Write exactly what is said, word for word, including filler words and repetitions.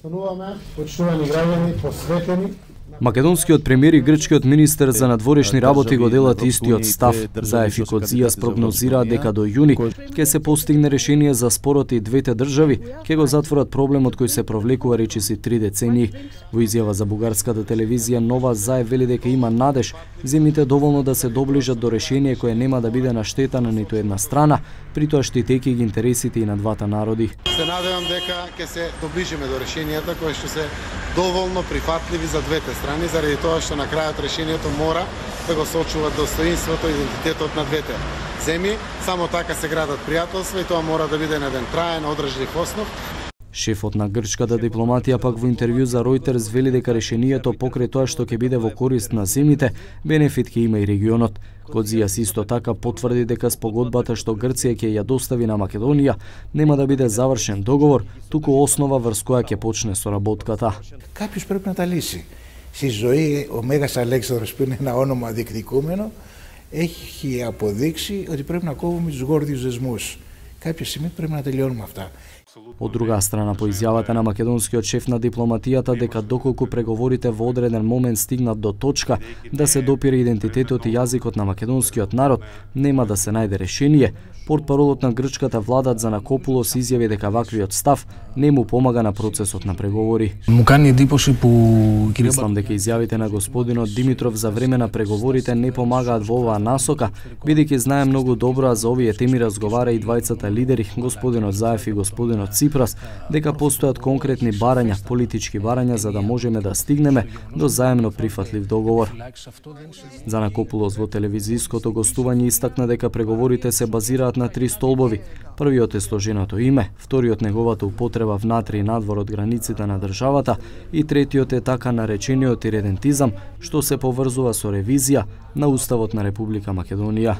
Остануваме, почитувани граѓани, посветени. Македонскиот премиер и грчкиот министер за надворешни работи го делат истиот став. Заев и Коцijas прогнозираат дека до јуни ќе се постигне решение за спорот и двете држави ќе го затворат проблемот кој се провлекува речиси три децении. Во изјава за бугарската телевизија Нова, Заев вели дека има надеж земјите доволно да се доближат до решение кое нема да биде на штета на ниту една страна, притоа штитејќи ги интересите и на двата народи. Се надевам дека ќе се доближиме до решенијата кои што се доволно прифатливи за двете страни, заради тоа што на крајот решението мора да го сочува достоинството и идентитетот на двете земји. Само така се градат пријателства и тоа мора да биде на еден траен, одржлив основ. Шефот на грчката дипломатија пак во интервју за Reuters вели дека решението покрај тоа што ќе биде во корист на земјите, бенефит ќе има и регионот. Коцijas исто така потврди дека спогодбата што Грција ќе ја достави на Македонија нема да биде завршен договор, туку основа врз која ќе почне соработката. Κάποιος πρέπει να τα λύσει. Στη ζωή ο Μέγας Αλέξανδρος, που είναι ένα όνομα διεκδικούμενο, έχει αποδείξει ότι πρέπει να κόβουμε τους γόρδιους δεσμούς. Κάποια στιγμή πρέπει να τελειώνουμε αυτά. Од друга страна, по изјавата на македонскиот шеф на дипломатијата дека доколку преговорите во одреден момент стигнат до точка да се допира идентитетот и јазикот на македонскиот народ, нема да се најде решение, портпаролот на грчката влада Дзанакопулос изјави дека ваквиот став не му помага на процесот на преговори. Мислам дека изјавите на господинот Димитров за време на преговорите не помагаат во оваа насока, бидејќи знае многу добро, а за овие теми разговара и двајцата лидери, господинот Заев и господинот Ципрас, дека постојат конкретни барања, политички барања за да можеме да стигнеме до заемно прифатлив договор. Дзанакопулос во телевизиското гостување истакна дека преговорите се базираат на три столбови. Првиот е сложеното име, вториот неговата употреба внатре и надвор од границите на државата и третиот е така наречениот иредентизам, што се поврзува со ревизија на Уставот на Република Македонија.